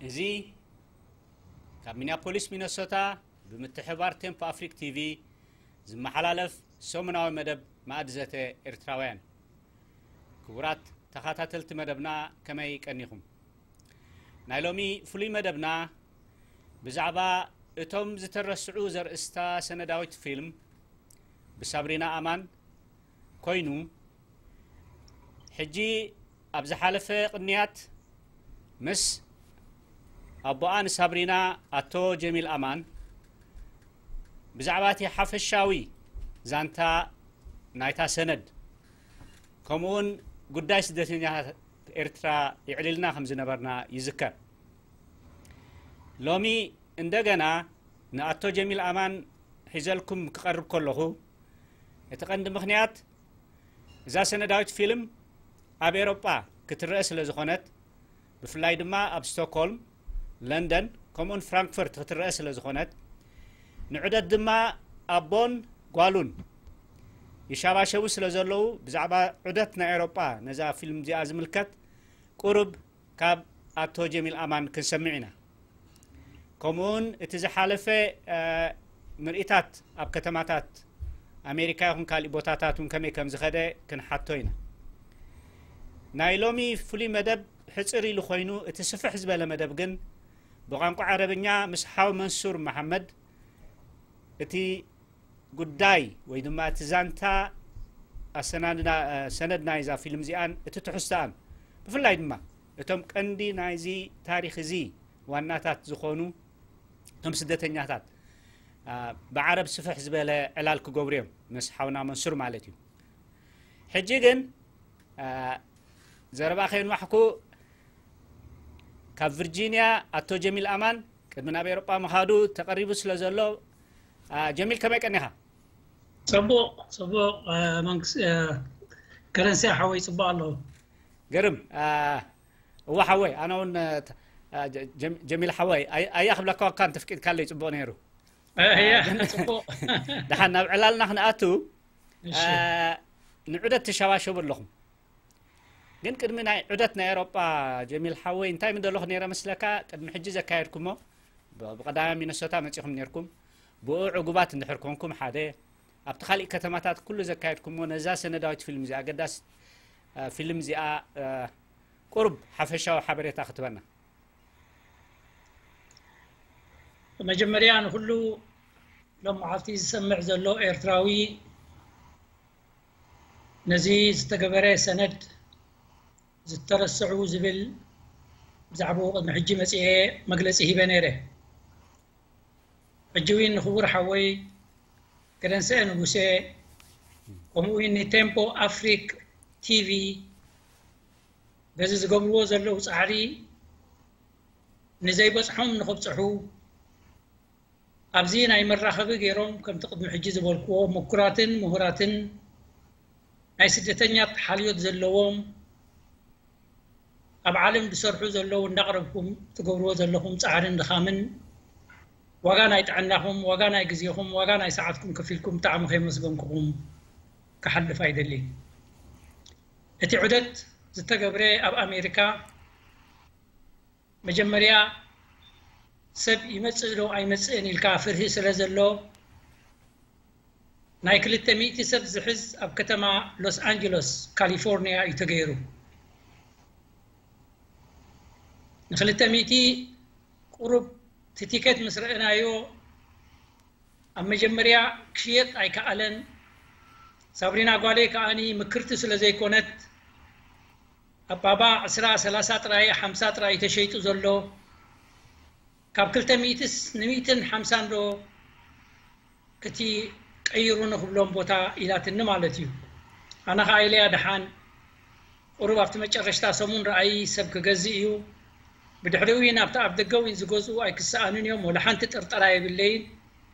እዚ ካብ ሚኒያፖሊስ ሚነሶታ ብምትሕብባር ቴምፖ ኣፍሪክ ቲቪ ዝመሓላለፍ ሰሙናዊ መደብ ማእዲ ዘተ ኤርትራውያን። ክቡራት ተኸታተልቲ መደብና፣ ከመይ ቀኒኹም? ናይ ሎሚ ፍሉይ መደብና ብዛዕባ እቶም ዝተረስዑ ዘርእስታ ሰነዳዊት ፊልም ብሳብሪና ኣማን ኮይኑ፣ ሕጂ ኣብ ዝሓለፈ ቅንያት ምስ ኣቦኣ ንሳብሪና ኣቶ ጀሚል ኣማን ብዛዕባ እቲ ሓፈሻዊ ዛንታ ናይታ ሰነድ፣ ከምኡውን ጉዳይ ስደተኛታት ኤርትራ የዕሊልና ከም ዝነበርና ይዝከር። ሎሚ እንደገና ንኣቶ ጀሚል ኣማን ሒዘልኩም ክቐርብ ከለኹ፣ እቲ ቀንዲ ምኽንያት፣ እዛ ሰነዳዊት ፊልም ኣብ ኤሮጳ ክትረአ ስለ ዝኾነት፣ ብፍላይ ድማ ኣብ ስቶክሆልም፣ ለንደን፣ ከምኡውን ፍራንክፈርት ክትረአ ስለ ዝኾነት፣ ንዑደት ድማ ኣቦን ጓሉን ይሻባሸቡ ስለ ዘለዉ፣ ብዛዕባ ዑደት ናይ ኤሮጳ ነዛ ፊልም እዚኣ ዝምልከት ቁሩብ ካብ ኣቶ ጀሚል ኣማን ክንሰምዕ ኢና። ከምኡውን እቲ ዝሓለፈ፣ እ፣ ምርኢታት ኣብ ከተማታት ኣሜሪካ ይኹን ካሊእ ቦታታት እውን ከመይ ከም ዝኸደ ክንሓቶ ኢና። ናይ ሎሚ ፍሉይ መደብ ሕጽር ኢሉ ኮይኑ፣ እቲ ስፍሕ ዝበለ መደብ ግን ብቋንቋ ዓረብኛ ምስ ሓው መንሱር መሓመድ እቲ ጉዳይ ወይ ድማ እቲ ዛንታ ኣሰናድና-፣ ሰነድ ናይዛ ፊልም እዚኣን እቲ ትሕዝቶኣን፣ ብፍላይ ድማ እቶም ቀንዲ ናይዚ ታሪኽ እዚ ዋናታት ዝኾኑ እቶም ስደተኛታት፣ ኣ፣ ብዓረብ ስፍሕ ዝበለ ዕላል ክገብሩ እዮም፣ ምስ ሓውና መንሱር ማለት እዩ። ሕጂ ግን፣ ኣ፣ ዘረባ ከየንዋሕኩ፣ ካብ ቪርጂንያ ኣቶ ጀሚል ኣማን ቅድሚ ናብ ኤውሮጳ ምኻዱ ተቐሪቡ ስለ ዘሎ፣ ኣ፣ ጀሚል፣ ከመይ ቀኒኻ? ጽቡቕ፣ ጽቡቕ፣ እ፣ መንግስ-፣ እ፣ ከረንስያ ሓወይ ጽቡቕ ኣለዉ። ግርም፣ እ፣ እወ ሓወይ፣ ኣነ እውን፣ እ፣ ተ-፣ እ፣ ጀ-፣ ጀም-፣ ጀሚል ሓወይ፣ ኣይ-፣ ኣያ ክብለካ እኳ እንተፍቂድካለይ ጽቡቕ ነይሩ። እ፣ እያ፣ እ፣ ግን ጽቡቕ። ደሓን ናብ ዕላልና ክንኣቱ፣ እሺ። እ፣ ንዑደት ትሸባሸቡ ኣለኹም። ግን ቅድሚ ናይ ዑደት ናይ ኤውሮጳ ጀሚል ሓወይ፣ እንታይ ምደለኹ ነይረ መስለካ? ቅድሚ ሕጂ ዘካየድኩሞ፣ ብ-፣ ብቐዳማይ ሚነሶታ መጺኹም ነይርኩም። ብኡ ዕጉባት እንድሕር ኮንኩም ሓደ፣ ኣብቲ ካሊእ ከተማታት ኩሉ ዘካየድኩሞ ነዛ ሰነዳዊት ፊልም እዚኣ፣ ኣገዳሲት፣ እ፣ ፊልም እዚኣ፣ እ፣ ቁሩብ ሓፈሻዊ ሓበሬታ ክትበና። መጀመርያ ንኹሉ ሎም መዓልቲ ዝሰምዕ ዘሎ ኤርትራዊ፣ ነዚ ዝተገበረ ሰነድ ዝተረስዑ ዝብል ብዛዕባኡ ቅድሚ ሕጂ መጺኤ መግለጺ ሂበ ነይረ። ሕጂ እውን ንክቡር ሓወይ ገደንስኤ ንጉሴ፣ ከምኡ እውን ንቴምፖ ኣፍሪክ ቲቪ በዚ ዝገብርዎ ዘለዉ ጻዕሪ ንዘይበጽሖም ንኽብጽሑ፣ ኣብዚ ናይ መራኸቢ ገይሮም፣ ከምቲ ቅድሚ ሕጂ ዝበልክዎ፣ ምኩራትን ምሁራትን ናይ ስደተኛት ሓልዮት ዘለዎም፣ ኣብ ዓለም ዝሰርሑ ዘለዉ፣ እንዳቕረብኩም ትገብርዎ ዘለኹም ጻዕርን ድኻምን፣ ዋጋ ናይ ጥዕናኹም፣ ዋጋ ናይ ግዜኹም፣ ዋጋ ናይ ሰዓትኩም ከፊልኩም ብጣዕሚ ከየመስገንኩኹም ክሓልፍ ኣይደልን። እቲ ዑደት ዝተገብረ ኣብ ኣሜሪካ፣ መጀመርያ ሰብ ይመጽእ ዶ ኣይመጽእን ኢልካ ፍርሂ ስለ ዘሎ፣ ናይ ክልተ ሚእቲ ሰብ ዝሕዝ ኣብ ከተማ ሎስ ኣንጀለስ ካሊፎርኒያ እዩ ተገይሩ። ንክልተ ሚእቲ ቁሩብ፣ እቲ ቲኬት ምስ ረእናዮ፣ ኣብ መጀመርያ ክሽየጥ ኣይከኣለን። ሳብሪና ጓለይ ከኣኒ ምክርቲ ስለ ዘይኮነት፣ ኣብ ባባ ዕስራ፣ ሰላሳ ጥራይ፣ ሓምሳ ጥራይ ተሸይጡ ዘሎ። ካብ ክልተ ሚእትስ ንሚእትን ሓምሳን ዶ እቲ ቀይሩ ንኽብሎም ቦታ ኢላትኒ ማለት እዩ። ኣነ ኸዓ ኢለያ፣ ደሓን፣ ቁሩብ ኣብቲ መጨረሽታ ሰሙን ረኣይ ሰብ ክገዝእ እዩ። ብድሕሪኡ እውን ኣብቲ ኣብ ደገ እውን ዝገዝኡ ኣይክሰኣኑን እዮም። ወላ ሓንቲ ጥርጠራ የብለይን።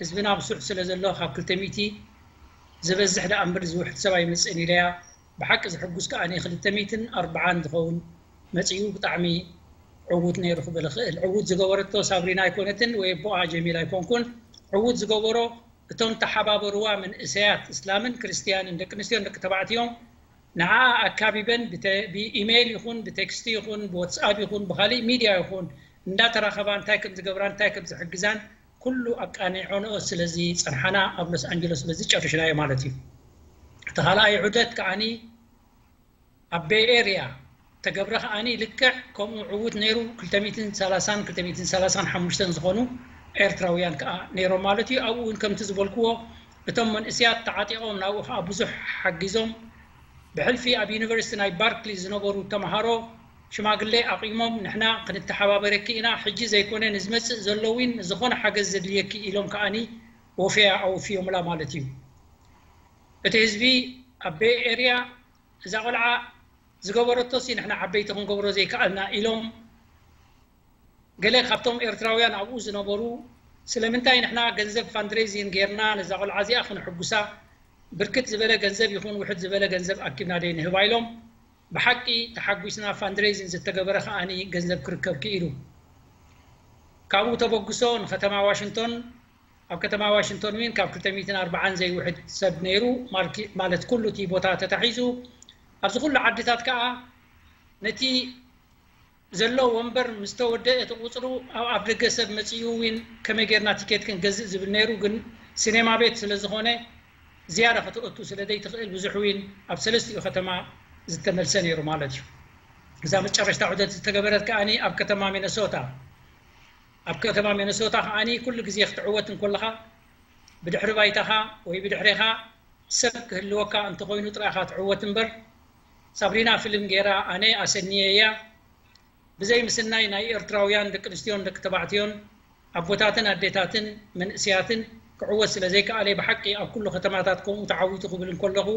ህዝብና ብሱሕ ስለ ዘሎ፣ ካብ ክልተ ሚእቲ ዝበዝሕ ደኣ እምበር ዝውሕድ ሰብ ኣይመጽእን ኢለያ። ብሓቂ ዘሕጉስ ከኣ ክልተ ሚእትን ኣርባዓን ዝኸውን መጺኡ፣ ብጣዕሚ ዕዉት ነይሩ ክብል እኽእል። ዕዉት ዝገበረቶ ሳብሪና ኣይኮነትን ወይ ኣቦኣ ጀሚል ኣይኮንኩን። ዕዉት ዝገበሮ እቶም ተሓባበርዋ መንእሰያት እስላምን ክርስትያንን፣ ደቂ ኣንስትዮን ደቂ ተባዕትዮን፣ ንዓኣ ኣካቢበን ብተ-፣ ብኢሜይል ይኹን ብቴክስቲ ይኹን ብዋትስኣፕ ይኹን ብኻሊእ ሚድያ ይኹን እንዳተራኸባ እንታይ ከም ዝገብራን እንታይ ከም ዝሕግዛን ኩሉ ኣቃኒዖንኦ ስለዚ ጸንሓና ኣብ ሎስ ኣንጀለስ በዚ ጨርሽናዮ ማለት እዩ። እቲ ካልኣይ ዑደት ከዓኒ ኣብ ቤይ ኤርያ ተገብረ ከዓኒ ልክዕ ከምኡ ዕዉት ነይሩ። ክልተ ሚእትን ሰላሳን ክልተ ሚእትን ሰላሳን ሓሙሽተን ዝኾኑ ኤርትራውያን ከዓ ነይሮም ማለት እዩ። ኣብኡ እውን ከምቲ ዝበልክዎ እቶም መንእስያት ተዓጢቖም ናብኡ ከዓ ብዙሕ ሓጊዞም። ብሕልፊ ኣብ ዩኒቨርሲቲ ናይ ባርክሊ ዝነበሩ ተምሃሮ ሽማግሌ ኣቒሞም ንሕና ክንተሓባበረኪ ኢና፣ ሕጂ ዘይኮነ ንዝመፅእ ዘሎ እውን ዝኾነ ሓገዝ ዘድልየኪ ኢሎም ከዓኒ ወፈያ ኣወፍዮምላ ማለት እዩ። እቲ ህዝቢ ኣብ ቤይ ኤርያ እዛ ቆልዓ ዝገበረቶሲ ንሕና ዓበይቲ ክንገብሮ ዘይከኣልና ኢሎም ገለ ካብቶም ኤርትራውያን ኣብኡ ዝነበሩ ስለምንታይ ንሕና ገንዘብ ፋንድሬዚን ጌርና ነዛ ቆልዓ እዚኣ ክንሕጉሳ ብርክት ዝበለ ገንዘብ ይኹን ውሕድ ዝበለ ገንዘብ ኣኪብና ደይ ንህባ ኢሎም ብሓቂ ተሓጒስና ፋንድሬዚን ዝተገበረ ከዓኒ ገንዘብ ክርከብ ክኢሉ። ካብኡ ተበግሶ ንከተማ ዋሽንቶን ኣብ ከተማ ዋሽንቶን ዊን ካብ ክልተ ሚእትን ኣርባዓን ዘይውሕድ ሰብ ነይሩ ማለት ኩሉ እቲ ቦታ ተታሒዙ ኣብዚ ኩሉ ዓድታት ከዓ ነቲ ዘሎ ወንበር ምስ ተወደአ እቲ ቁፅሩ ኣብ ኣፍ ደገ ሰብ መፅኡ ዊን ከመይ ጌርና ቲኬት ክንገዝእ ዝብል ነይሩ ግን ሲኔማ ቤት ስለ ዝኾነ ዝያዳ ከተእቱ ስለ ዘይትኽእል ብዙሕ ዊን ኣብ ሰለስቲኡ ከተማ ዝተመልሰ ነይሩ ማለት እዩ። እዛ መጨረሽታ ዑደት ዝተገበረት ከዓኒ ኣብ ከተማ ሚነሶታ ኣብ ከተማ ሚነሶታ ከዓኒ ኩሉ ግዜ ክትዕወት እንኮለኻ ብድሕሪ ባይታኻ ወይ ብድሕሬኻ ሰብ ክህልወካ እንተኾይኑ ጥራኻ ትዕወት እምበር ሳብሪና ፊልም ገይራ ኣነ ኣሰንየ እያ ብዘይ ምስናይ ናይ ኤርትራውያን ደቂ ኣንስትዮን ደቂ ተባዕትዮን ኣቦታትን ኣዴታትን መንእስያትን ክዕወት ስለ ዘይከኣለ ብሓቂ ኣብ ኩሉ ከተማታት ከምኡ ተዓዊቱ ክብል እንከለኹ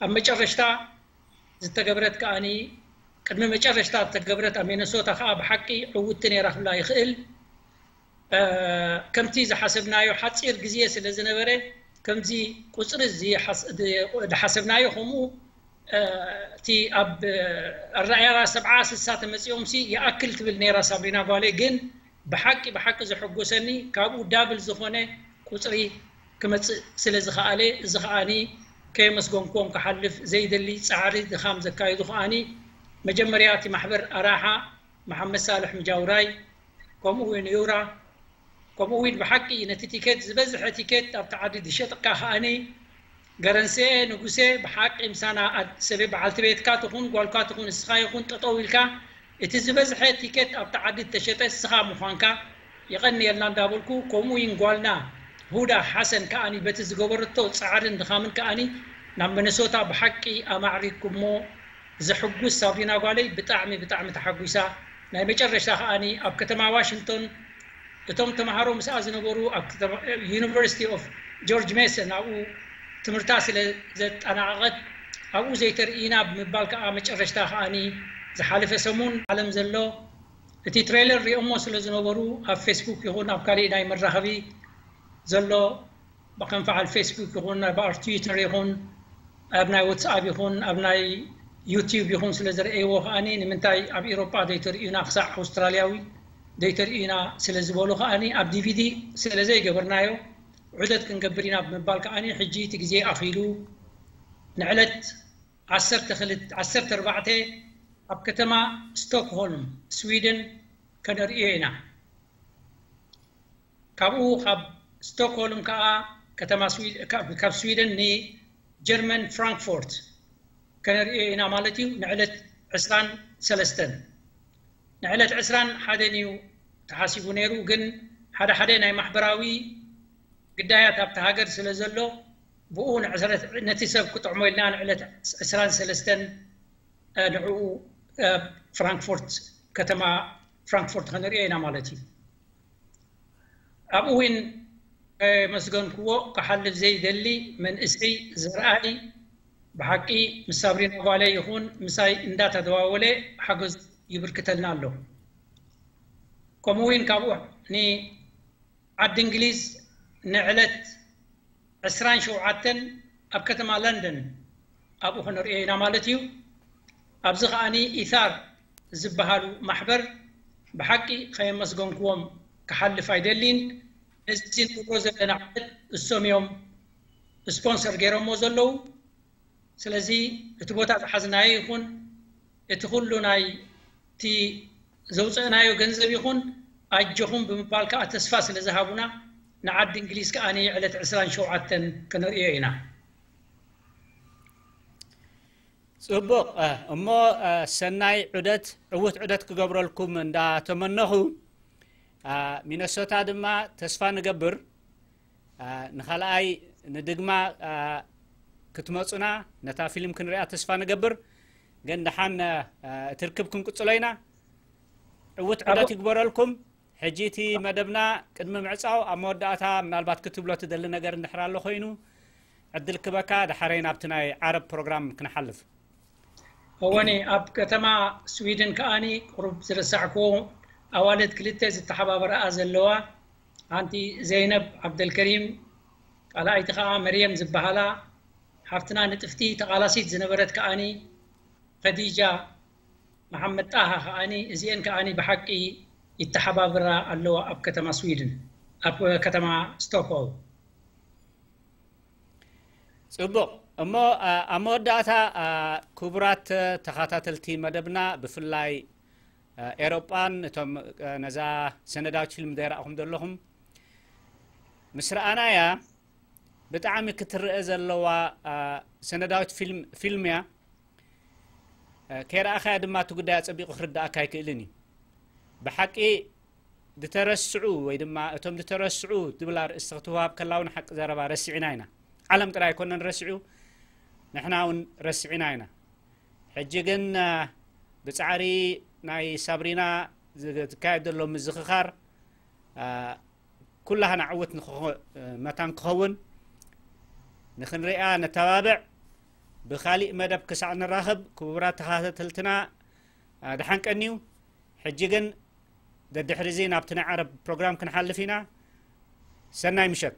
ኣብ መጨረሽታ ዝተገብረት ከኣኒ ቅድሚ መጨረሽታ ዝተገብረት ኣብ ሚነሶታ ከኣ ብሓቂ ዕውቲ ነይራ ክብላ ይኽእል። ከምቲ ዝሓሰብናዮ ሓፂር ግዜ ስለ ዝነበረ ከምዚ ቁፅሪ ዝሓሰብናዮ ከምኡ እቲ ኣብ ኣረኣያ ሰብዓ ስሳ ተመፂኦም ሲ ይኣክል ትብል ነይራ ሳብሪና ጓለይ ግን ብሓቂ ብሓቂ ዘሐጎሰኒ ካብኡ ዳብል ዝኾነ ቁፅሪ ክመፅእ ስለ ዝኸኣለ እዚ ከዓኒ ከየመስገንክዎም ክሓልፍ ዘይደሊ ፃዕሪ ድኻም ዘካየዱ ከዓኒ መጀመርያ እቲ ማሕበር ኣራሓ መሓመድ ሳልሕ ምጃውራይ ከምኡ እውን ዩራ ከምኡ እውን ብሓቂ ነቲ ቲኬት ዝበዝሐ ቲኬት ኣብቲ ዓዲ ዝሸጥካ ከዓኒ ገረንስኤ ንጉሴ ብሓቂ ምሳና ሰበ በዓልቲ ቤትካ ትኹን ጓልካ ትኹን እስኻ ይኹን ጠጠው ኢልካ እቲ ዝበዝሐ ቲኬት ኣብቲ ዓዲ እተሸጠ እስኻ ምዃንካ የቐንየልና እንዳበልኩ ከምኡ እውን ጓልና ሁዳ ሓሰን ከዓኒ በቲ ዝገበረቶ ፃዕርን ድኻምን ከዓኒ ናብ መነሶታ ብሓቂ ኣማዕሪግኩሞ ዘሕጉስ ሳብሪና ጓለይ ብጣዕሚ ብጣዕሚ ተሓጒሳ ናይ መጨረሽታ ከዓኒ ኣብ ከተማ ዋሽንግቶን እቶም ተምሃሮ ምስኣ ዝነበሩ ኣብ ዩኒቨርሲቲ ኦፍ ጆርጅ ሜሰን ኣብኡ ትምህርታ ስለ ዘጠናቐቐት ኣብኡ ዘይተርእይና ብምባል ከዓ መጨረሽታ ከዓኒ ዝሓለፈ ሰሙን ዓለም ዘሎ እቲ ትሬለር ሪኦሞ ስለ ዝነበሩ ኣብ ፌስቡክ ይኹን ኣብ ካሊእ ናይ መራኸቢ ዘሎ ከም በዓል ፌስቡክ ይኹን ኣብ በዓል ትዊተር ይኹን ኣብ ናይ ዋትስኣፕ ይኹን ኣብ ናይ ዩቲዩብ ይኹን ስለ ዝረእይዎ ከዓኒ ንምንታይ ኣብ ኤሮጳ ዘይተርእዩና ክሳዕ ኣውስትራልያዊ ዘይተርእዩና ስለ ዝበሉ ከዓኒ ኣብ ዲቪዲ ስለ ዘይገበርናዮ ዑደት ክንገብር ኢና ብምባል ከዓኒ ሕጂ እቲ ግዜ ኣኺሉ ንዕለት ዓሰርተ ክልተ ዓሰርተ ኣርባዕተ ኣብ ከተማ ስቶክሆልም ስዊድን ከነርእዮ ኢና። ካብኡ ካብ ስቶክሆልም ከዓ ከተማ ካብ ስዊደን ንጀርመን ፍራንክፎርት ከነርእዮ ኢና ማለት እዩ። ንዕለት ዕስራን ሰለስተን ንዕለት ዕስራን ሓደን እዩ ተሓሲቡ ነይሩ። ግን ሓደ ሓደ ናይ ማሕበራዊ ግዳያት ኣብቲ ሃገር ስለ ዘሎ ብኡ ነቲ ሰብ ክጥዕሞ ኢልና ንዕለት ዕስራን ሰለስተን ንዕኡ ፍራንክፎርት ከተማ ፍራንክፎርት ከነርእዮ ኢና ማለት እዩ። ኣብኡ እውን ከመስገንክዎ ክሓልፍ ዘይደሊ መንእሰይ ዘርኣይ ብሓቂ ምስ ሳብሪና ጓለይ ይኹን ምሳይ እንዳተደዋወለ ሓገዝ ይብርክተልና ኣሎ። ከምኡ እውን ካብኡ ንዓዲ እንግሊዝ ንዕለት ዕስራን ሸውዓተን ኣብ ከተማ ለንደን ኣብኡ ክንርእዮ ኢና ማለት እዩ። ኣብዚ ከዓኒ ኢታር ዝበሃሉ ማሕበር ብሓቂ ከየመስገንክዎም ክሓልፍ ኣይደሊን። ነዚ ንብሎ ዘለና ዕለት እሶም እዮም ስፖንሰር ገይሮሞ ዘለዉ። ስለዚ እቲ ቦታ ዝሓዝናዮ ይኹን እቲ ኩሉ ናይ እቲ ዘውፅእናዮ ገንዘብ ይኹን ኣጆኹም ብምባል ከዓ ተስፋ ስለ ዝሃቡና ንዓዲ እንግሊዝ ከዓ ዕለት ዕስራን ሸውዓተን ክንርእዮ ኢና። ጽቡቕ። እሞ ሰናይ ዑደት፣ ዕውት ዑደት ክገብረልኩም እንዳተመነኹ፣ ሚነሶታ ድማ ተስፋ ንገብር ንኻልኣይ ንድግማ ክትመፁና፣ ነታ ፊልም ክንሪኣ ተስፋ ንገብር። ግን ደሓን እቲ ርክብ ክንቅፅሎ ኢና። ዕውት ዑደት ይግበረልኩም። ሕጂ እቲ መደብና ቅድሚ ምዕፃው ኣብ መወዳእታ ምናልባት ክትብሎ ትደሊ ነገር እንድሕር ኣሎ ኮይኑ ዕድል ክበካ፣ ደሓረይ ናብቲ ናይ ዓረብ ፕሮግራም ክንሓልፍ። እወኒ ኣብ ከተማ ስዊድን ከኣኒ ቁሩብ ዝረሳዕክዎ ኣዋልድ ክልተ ዝተሓባበረኣ ዘለዋ፣ ሓንቲ ዘይነብ ዓብደልከሪም፣ ካልኣይቲ ከኣ መርየም ዝበሃላ ሓፍትና ንጥፍቲ ተቓላሲት ዝነበረት ከኣኒ ኸዲጃ መሓመድ ጣሃ ከኣኒ፣ እዚአን ከኣኒ ብሓቂ ይተሓባበራ ኣለዋ ኣብ ከተማ ስዊድን፣ ኣብ ከተማ ስቶክሆልም። ጽቡቕ። እሞ ኣብ መወዳእታ ክቡራት ተኸታተልቲ መደብና፣ ብፍላይ ኤሮጳን እቶም ነዛ ሰነዳዊት ፊልም ዘይረኣኹም ዘለኹም፣ ምስ ረኣናያ ብጣዕሚ ክትረአ ዘለዋ ሰነዳዊት ፊልም እያ። ከይረኣኻያ ድማ እቲ ጉዳይ ኣጸቢቑ ክርድኣካ ኣይክእልን እዩ። ብሓቂ ዝተረስዑ ወይ ድማ እቶም ዝተረስዑ ዝብል ኣርእስቲ ክትወሃብ ከላ እውን ሓቂ ዘረባ ረሲዕና ኢና። ዓለም ጥራይ ኣይኮነን ረሲዑ፣ ንሕና እውን ረሲዕና ኢና። ሕጂ ግን ብጻዕሪ ናይ ሳብሪና ዝካየድ ዘሎ ምዝኽኻር ኩላህና ዕውት መታን ክኸውን ንክንሪኣ ነተባብዕ። ብኻሊእ መደብ ክሳዕ ንራኸብ ክቡራት ተኸታተልትና ደሓን ቀንዩ። ሕጂ ግን ደድሕሪ እዚ ናብቲ ናይ ዓረብ ፕሮግራም ክንሓልፍ ኢና። ሰናይ ምሸት።